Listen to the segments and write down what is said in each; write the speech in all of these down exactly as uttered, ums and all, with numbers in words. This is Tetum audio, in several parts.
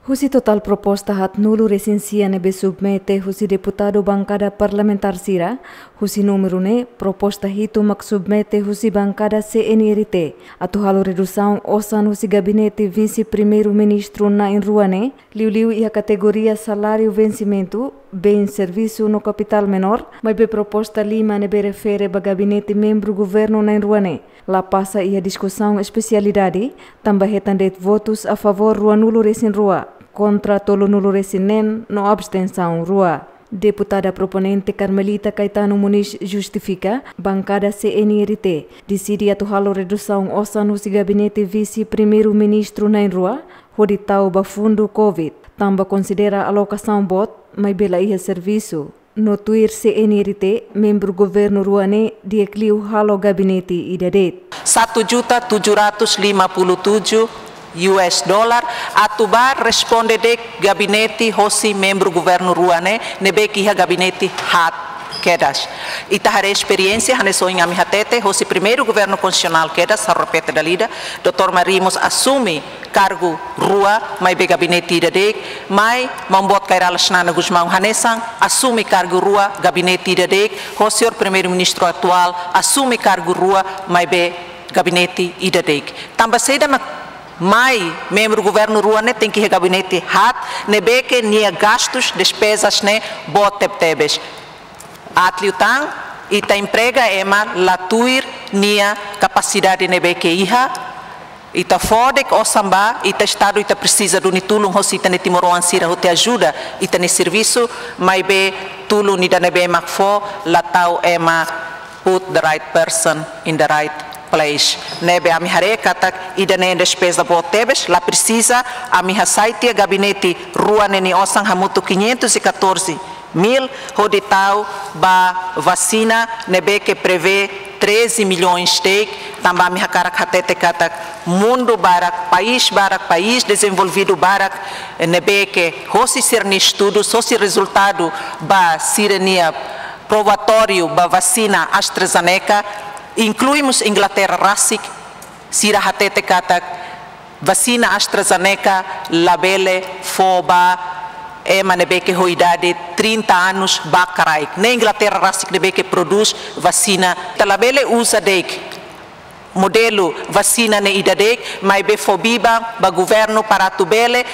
Husi totál proposta haatnulu resin sia ne'ebé submete husi deputadu bankada parlamentár sira, husi númeru ne'e proposta hitu mak submete husi bankada C N R T, atu halo redusaun osan husi gabinete vise primeiru-ministru na'in-rua ne'e, liuliu iha kategoria saláriu vensimentu, bens servisu no kapitál menór, maibé proposta lima ne'ebé refere ba gabinete membru governu na'in-rua ne'e la pasa iha diskusaun espesialidade, tanba hetan de'it votus a favór ruanulu resin rua, kontra tolunulu resin neen no abstensaun rua. Deputada proponente Carmelita Caetano Muniz justifika, bankada C N R T deside atu halo redusaun osan husi gabinete vise primeiru-ministru na'in-rua, hodi tau ba fundu covid, tanba konsidera alokasaun boot, maibé la iha servisu. No tuir C N R T, membru governu rua ne'e di'ak liu halo gabinete ida de'it. Satu juta tujuh ratus lima puluh tujuh U S dollar, atu ba responde de'it gabinete hosi membru governu rua ne'e, ne'ebé ke iha gabinete haat kedas. Ita haree esperiénsia, hanesan ohin ami hatete, hosi primeiru governu konstitusionál kedas, ha'u repete dala ida, doutór Mari mós asume kargu rua, maibé gabinete ida de'it, mai maun boot Kay Rala Xanana Gusmão hanesan asume kargu rua, gabinete ida de'it, ho señór primeiru-ministru atuál asume kargu rua, maibé gabinete ida de'it. Tanba saida mak mai membru governu rua ne'e tenke iha gabinete haat, ne'ebé ke nia gastus, despezas ne'e boot tebetebes. Aat liután, ita emprega ema la tuir nia kapasidade ne'ebé ke iha, ita fó de'it osan ba, ita Estadu ita presiza duni tulun hosi ita-nia timoroan sira hodi ajuda ita-nia servisu, maibé tulun ida ne'ebé mak fó la tau ema put the right person in the right place. Ne'ebé ami haree katak ida-ne'e despeza boot tebes, la presiza ami hasai tiha gabinete rua ne'e nia osan hamutuk quinhentos e catorze mil, hodi tau ba vasina ne'ebé ke prevee treze milhões de'it, tanba ami hakarak hatete katak mundu barak, país barak, país dezenvolvidu barak, ne'ebé ke hosi sira-nia estudu, hosi rezultadu ba sira-nia provatóriu ba vasina AstraZeneca, inklui mós Inglaterra rasik, sira hatete katak vasina AstraZeneca labele fó ba ema ne'ebé ke ho idade trinta anos ba kraik. Ne'e Inglaterra rasik ne'ebé ke prodús vasina. Ita labele uza de'it modelu vasina ne'e ida de'it, maibé fó biban ba governu para atu bele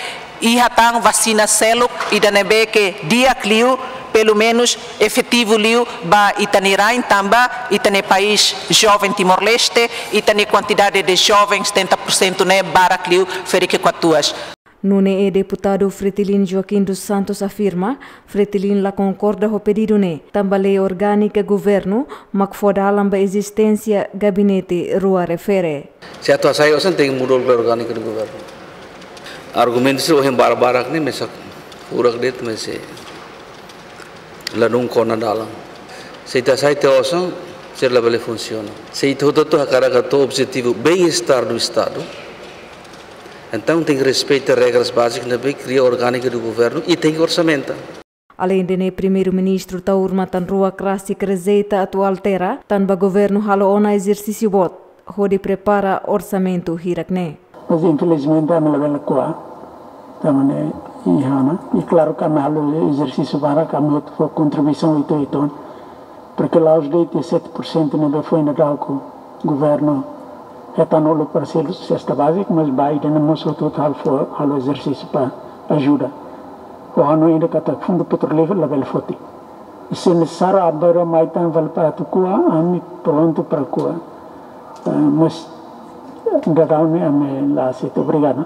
iha tan vasina seluk ida ne'ebé ke di'ak liu, pelumenus efetivu liu ba ita-nia rain, tanba ita-nia país joven Timor-Leste, ita-nia kuantidade de jovens setenta por cento ne'e barak liu ferik katuas. Nune'e deputadu Fretilin Joaquim dos Santos afirma, Fretilin la konkorda ho pedidu ne'e, tanba lei orgánika governu mak fó dalan ba ezisténsia gabinete rua refere. Se atu hasai osan tenke muda lei orgánika do governu. Argumentu sira ohin barak-barak ne'e mesak furak de'it, maibé ladún kona dalan. Se ita hasai tiha osan, sira labele funsiona. Se ita hotu-hotu hakarak atu objetivu bem-estar do Estadu, entaun tenke respeita regras bázicas ne'ebé kria orgánika do governu i tenke orsamenta. Aleinde ne'e, primeiru-ministru Taur Matan Ruak rasik rejeita atu altera, tanba governu halo ona ezersísiu boot hodi prepara orsamentu hirak ne'e. Mas infelizmente ami labele ko'a. Tanba ne'e iha ona. I klaru ke ami halo ezersísiu barak, ami hotu fó kontribuisaun uitoan. Porke la'ós de'it sete por cento ne'ebé foin daudaun governu hetan uluk para selu sesta bázika, mas ba ida-ne'e mós hotu-hotu halo fó, halo ezersísiu para ajuda. Ho hanoin ida katak fundu petrolíferu labele foti. I se nesesáriu aban-bainrua mai tan fali para atu ko'a, ami prontu para ko'a. Eh, mas daudaun ne'e ami la aseita, obrigadu.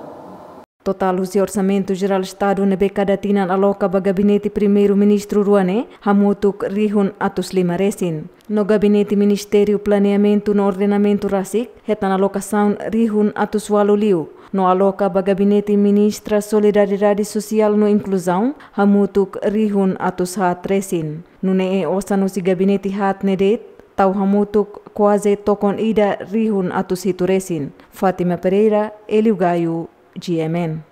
Totál husi Orsamentu Jerál Estadu ne'ebé kada tinan aloka ba gabinete primeiru-ministru rua ne'e, hamutuk rihun atus lima resin. No gabinete Ministériu Planeamentu no Ordenamentu rasik, hetan alokasaun rihun atus ualu liu. No aloka ba gabinete Ministra Solidariedade Sosiál no Inkluzaun, hamutuk rihun atus haat resin. Nune'e osan husi gabinete haat ne'e de'it, tau hamutuk kuaze tokon ida rihun atus hitu resin. Fátima Pereira, Hélio Gaio, G M N.